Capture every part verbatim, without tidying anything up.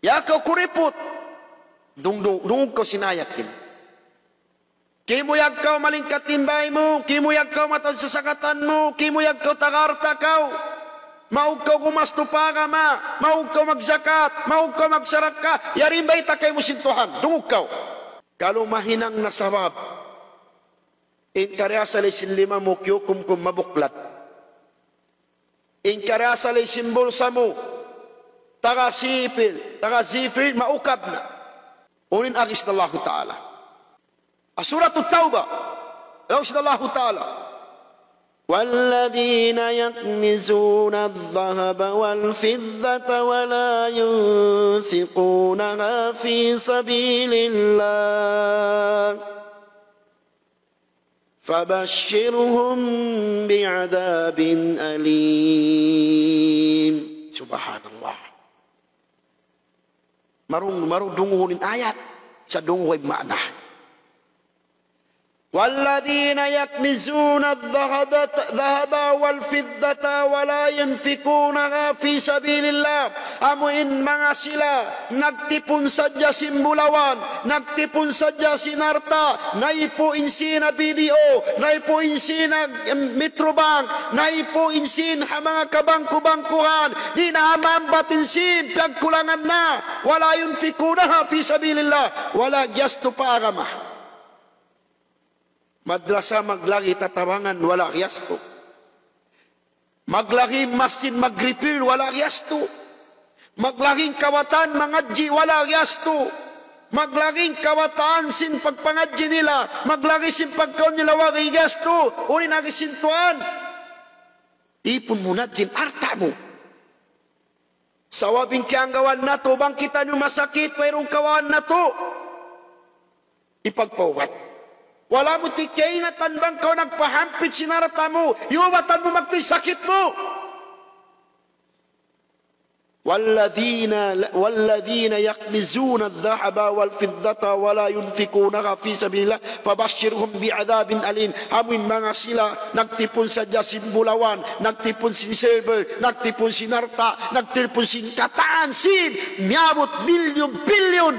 Ya kaw kuriput, dung-, dung-, dungug kaw sin ayat ini. Kimuyag kaw malingkat in bay mu, kimuyag kaw mataud sasakatan mu, kimuyag kaw taga alta' kaw. Maug kaw gumastu pa agama, maug kaw magzakat, maug kaw magsarakka, yari in bayta' kaymu sin Tuhan, dungug kaw. Kalu mahinang na sabab, in kariasali sin lima mu kiyukumkum mabuklad. In kariasali sin bulsa mu, taga sipil, taga zifil, maukab na. Unu in agi sin Allahu Ta'ala. Surat At-Tawbah. Laung sin Allahu Ta'ala, والذين يكنزون الذهب والفضة ولا ينفقونها في سبيل الله فبشرهم بعذاب أليم. Subhanallah. Marung, marung dunguhun in ayat, sa' dunguhun in maana. والذين يكنزون الذهب، الذهب والفضة ولا ينفقونها في سبيل الله. Amu in manga sila nagtipun sadja sin bulawan, nagtipun sadja sin alta', naipu in sīn ha B D O, naipu in sīn ha, em, Metrobank, naipu in sīn ha manga kabangku-bangkuhan, di' na maambat in sīn, piyagkulangan na. ولا ينفقونها في سبيل الله. Wala' giyastu pa agama. Madrasa maglagi' tatabangan, wala' giyastu. Maglagi' masjid mag-repair, wala' giyastu. Maglagi' kawatan mangadji', wala' giyastu. Maglagi' kawatan sin pagpangadji' nila, maglagi' sin pagkaun nila, wala' giyastu. Unu in agi sin Tuhan? Ipun mu na in alta' mu. Sabab in kiyanggawan natu', bang kita' niyu masakit, wayruun kawaan natu' hipagpaubat. Wala' mu ti' kaingatan bang kaw nagpahampit sin alta' mu, iyubatan mu magtuy sakit mu. والذين، والذين يكنزون الذهب والفضة ولا ينفقونها في سبيل الله فبشرهم بعذاب أليم. Amu in manga sila nagtipun sadja sin bulawan, nagtipun sin silver, nagtipun sin alta', nagtipun sin katan sin, miyabut bilyon-bilyon,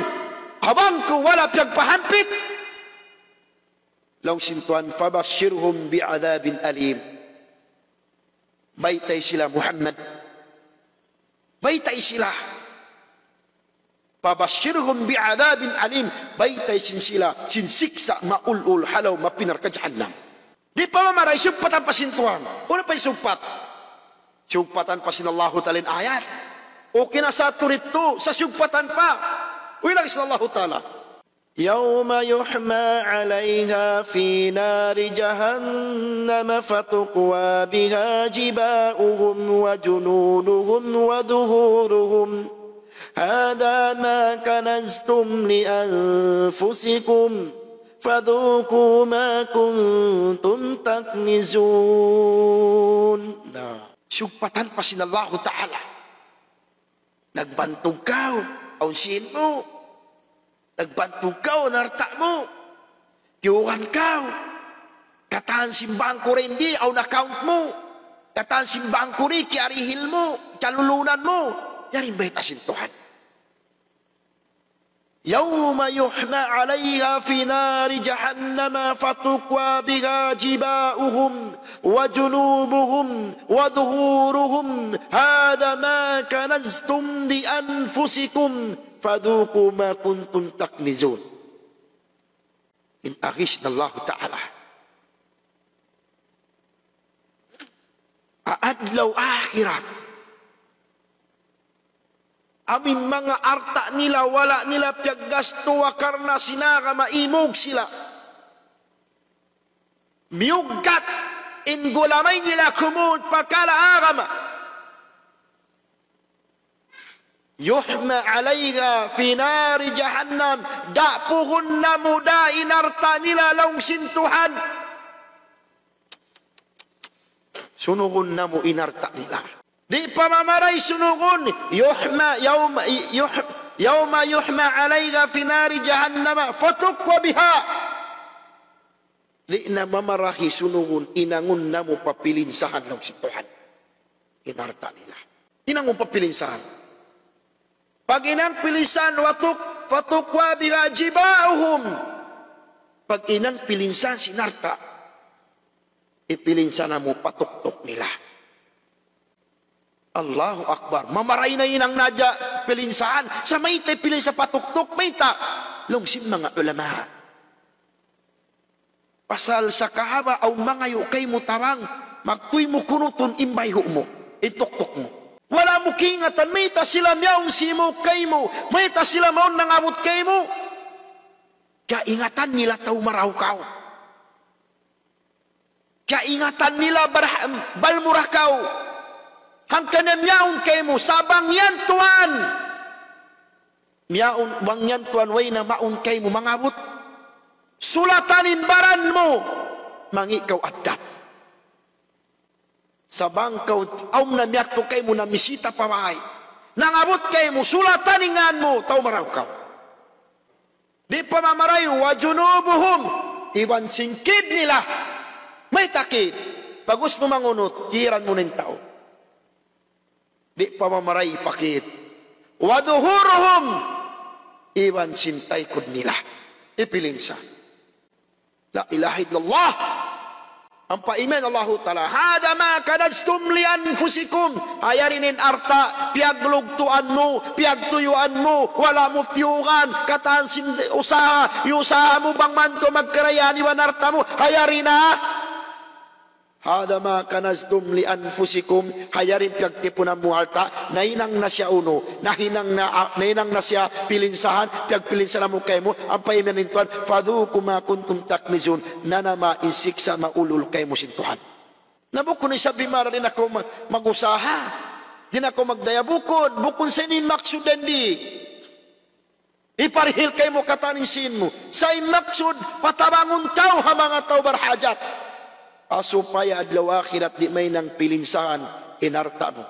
ha bangku wala' piyagpahampit. Laung sin Tuhan, فبشرهم بعذاب أليم. Baytai sila, Muhammad. Baytai sila. فبشرهم بعذاب أليم. Baytai sin sila sin siksa' maulul ha lawm api narka' jahannam. Di' pa mamaray, sugpatan pa sin Tuhan. Unu pa in sugpat? Sugpatan pa sin Allahu Ta'ala in ayat. Okay na sa' tuud yadtu, sa' sugpatan pa. Uy, lagi sin Allahu Ta'ala. يوم يحمى عليها في نار جهنم فتكوى بها جباههم وجنوبهم وظهورهم، هذا ما كنزتم لأنفسكم فذوقوا ما كنتم تكنزون. Na, sugpatan pa sin Allahu Ta'ala. Nagbantug kaw, awn sīn mu. Nagbantug kaw, awn alta' mu. Kiyuhan kaw. Katan sin bangku di', awn account mu. Katan sin bangku di', kiyarihil mu, kiyalulunan mu. Yari in bayta' sin Tuhan. يوم يحمى عليها في نار جهنم فتكوى بها جباههم وجنوبهم وظهورهم، هذا ما كنزتم لأنفسكم فذوقوا ما كنتم تكنزون. In agi sin Allahu Ta'ala. Ha adlaw akhirat, amu in manga alta' nila, wala' nila piyaggastuwa karna' sin agama, imug sila. Miyuggat in gulamay nila kumud pa kala agama. يحمى عليها في نار جهنم. Dapuhun namu' da in alta' nila laung sin Tuhan. Sunugun namu' in alta' nila. Di' pa mamaray sunugun. يحمى يوم، يح-، يوم يحمى عليها في نار جهنم فتكوى بها. Di' na mamarahi sunugun, hinangun namu' pa pilinsahan laung sin Tuhan. In alta' nila. Hinangun pa pilinsahan. Pag hinang pilinsahan, watuk, fatukwa biha jibauhum. Pag hinang pilinsahan sin alta', ipilinsahan mu pa tuktuk nila. Allahu Akbar. Mamaray na hinang na hadja pilinsahan. Sa' mayta' pilinsahan pa tuktuk, mayta'? Laung sin manga ulama. Pasal sa' kahaba' awn mangayu' kaymu tabang, magtuy mu kunutun in bayhu' mu, in tuktuk mu. Wala' mu kaingatan mayta' sila miyawn simūg kaymu, mayta' sila mawn nangabut kaymu. Kaingatan nila tau marayaw kaw. Kaingatan nila bar-, balmura kaw. Hangkan na miyawn kaymu, sa' bang yan tuwan. Miyawn, bang yan tuwan, way na mawn kaymu mangabut. Sulatan in baran mu, mangi' kaw addat. Sa' bang kaw, awn na miyadtu kaymu namisita pa bay. Nangabut kaymu, sulatan in ngan mu, tau marayaw kaw. Di' pa mamarayaw, wa junubuhum, iban sin kid nila. Mayta' kid? Pag'ubus mu mangunut, kiran mu na in tau. Di' pa mamarayaw pa kid. Wa duhuruhum, iban sin taykud nila. Ipilinsa. La ilaha illallah. Ampa imiyan Allahu Ta'ala, "Hadha ma kanaztum li anfusikum." Ha yari ini in alta' piyaglugtuan mu, piyagtuyuan mu, wala' mu tiyugan, katan sin usaha, iyusaha mu bang man kaw magkarayaan iban alta' mu. Ha yari na. "Hadha ma kanaztum li anfusikum." Ha yari in piyagtipunan mu alta', nahinang na siya unu, nahinang na, ah, nahinang na siya pilinsahan, piyagpilinsahan mu kaymu, ampa imiyan in Tuhan, "Fadhuqu ma kuntum taknizun." Nanama in siksa' maulul kaymu sin Tuhan. Na bukun isab bimara di' na kaw mag-, mag-usaha. Di' na kaw magdaya bukun. Bukun sa ini in maksud dayn di. Iparihil kaymu katan in sīn mu. Sa' in maksud, patabangun kaw ha manga tau barhajat. Ha supaya adlaw akhirat di' mahinang pilinsahan in alta' mu.